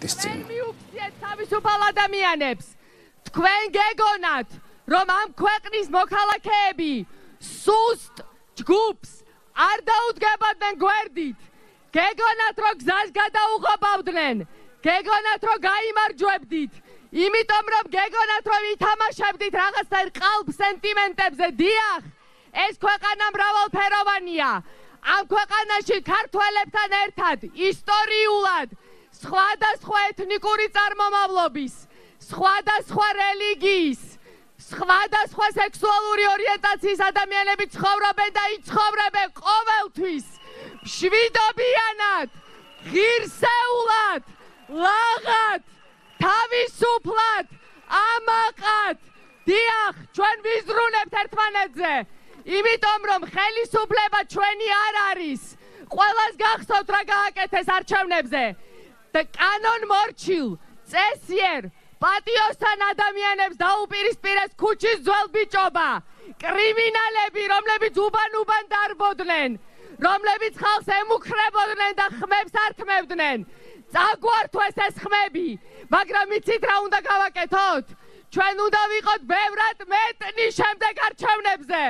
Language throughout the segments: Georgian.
პარლამენტის წინ. მიუქციეთ თავისუფალ ადამიანებს. თქვენ გეგონათ, რომ ამ ქვეყნის მოქალაქეები სუსტ ჯგუფს არ დაუდგებოდნენ გვერდით. გეგონათ, რომ გზას გადაუღობავდნენ. გეგონათ, რომ გაიმარჯვებდით. იმიტომ რომ გეგონათ, რომ ითამაშებდით რაღაცნაირ ყალბ სენტიმენტებზე. დიახ, ეს ქვეყანა მრავალფეროვანია. ამ ქვეყანაში ქართველებთან ერთად ისტორიულად სხვადასხვა ეთნიკური წარმომავლობის, სხვადასხვა რელიგიის, სხვადასხვა სექსუალური ორიენტაციის ადამიანები ცხოვრობენ და იცხოვრებენ ყოველთვის მშვიდობიანად, ღირსეულად, ლაღად, თავისუფლად, ამაყად. დიახ, ჩვენ ვიზრუნებთ ერთმანეთზე, იმიტომ რომ ხელისუფლება ჩვენი არ არის. ყველას გახსოვთ რა გააკეთეს არჩევნებზე და კანონმორჩილ, წესიერ, პატიოსთან ადამიანებს დაუპირისპირეს ქუჩის ძველ ბიჭობა. კრიმინალები, რომლებიც უბან-უბან დარბოდნენ, რომლებიც ხალხს ემუქრებოდნენ და ხმებს ართმევდნენ. წაგვართვეს ეს ხმები, მაგრამ იცით რა უნდა გავაკეთოთ? ჩვენ უნდა ვიყოთ ბევრად მეტნი შემდეგ არჩევნებზე,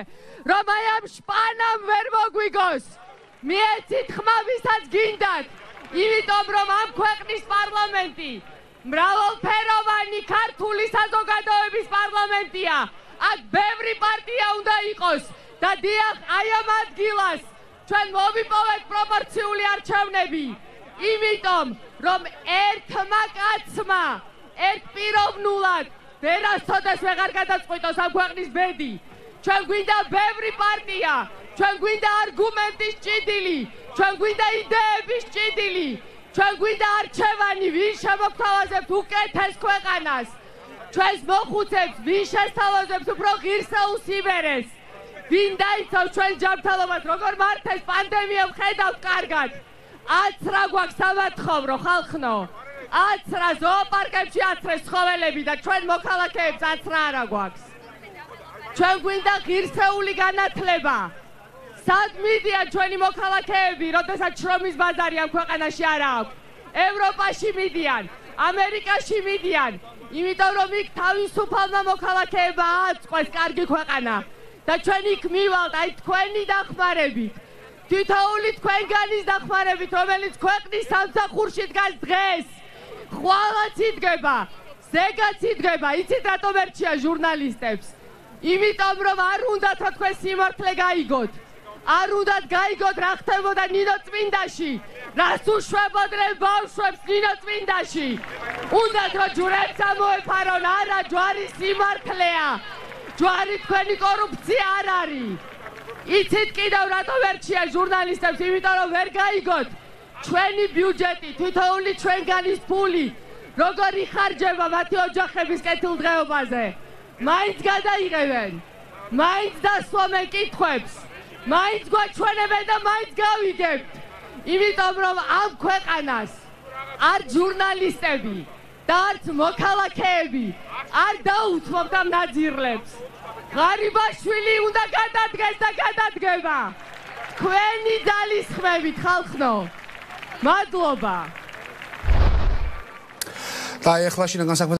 რომ აი ამ შპანამ ვერ მოგვიგოს. მიეცით ხმა ვისაც გინდათ, იმიტომ რომ ამ ქვეყნის პარლამენტი მრავალფეროვანი ქართული საზოგადოების პარლამენტია. აქ ბევრი პარტია უნდა იყოს და დიახ, აი ამ ადგილას ჩვენ მოვიპოვეთ პროპორციული არჩევნები. იმიტომ რომ ერთმა კაცმა ერთპიროვნულად ვერასოდეს ვეღარ გადაწყვიტოს ამ ქვეყნის ბედი. ჩვენ გვინდა ბევრი პარტია, ჩვენ გვინდა არგუმენტის ჭიდილი, ჩვენ გვინდა იდეების ჭიდილი, ჩვენ გვინდა არჩევანი, ვინ შემოგთავაზებთ უკეთეს ქვეყანას, ჩვენს მოხუცებს, ვინ შესთავაზებთ უფრო ღირსეულ სიმერეს, ვინ დაიცავს ჩვენ ჯანმრთელობას, როგორ მართეს პანდემია ვხედავთ კარგად. აცრა გვაქვს სამათხოვრო ხალხნო, აცრა ზოოპარკებში აცრეს ცხოველები და ჩვენ მოქალაქეებს აცრა არა გვაქვს. ჩვენ გვინდა ღირსეული განათლება. სად მიდიან ჩვენი მოქალაქეები, როდესაც შრომის ბაზარი ამ ქვეყანაში არ აქვს? ევროპაში მიდიან, ამერიკაში მიდიან, იმიტომ რომ იქ თავისუფალმა მოქალაქეებმა ააწყვეს კარგი ქვეყანა და ჩვენ იქ მივალთ აი თქვენი დახმარებით. თითოეული თქვენგანის დახმარებით, რომელიც ქვეყნის სამსახურში დგას დღეს, ხვალაც იდგება, ზეგაც იდგება. იცით რატომ ერჩია ჟურნალისტებს? იმიტომ რომ არ უნდათ რომ თქვენ სიმართლე გაიგოთ. არ უნდათ გაიგოთ რა ხდებოდა ნინოწმინდაში, რას უშვებოდნენ ბავშვებს ნინოწმინდაში. უნდათ რომ ჯვრებს ამოეფარონ, არა, ჯვარი სიმართლეა. ჯვარი თქვენი კორუფცია არ არის. იცით კიდევ რატომ ერჩია ჟურნალისტებს? იმიტომ რომ ვერ გაიგოთ ჩვენი ბიუჯეტი, თითოეული ჩვენგანის ფული როგორ იხარჯება მათი ოჯახების კეთილდღეობაზე. მაინც გადაიღებენ, მაინც დასვამენ კითხვებს, მაინც გვაჩვენებენ და მაინც გავიგებთ. იმიტომ რომ ამ ქვეყანას არ ჟურნალისტები და არც მოქალაქეები არ დაუთმობთ ამ ნაძირლებს. ღარიბაშვილი უნდა გადადგეს და გადადგება. თქვენი ძალისხმევით ხალხნო. მადლობა. და ეხლა შინაგან საქმეთა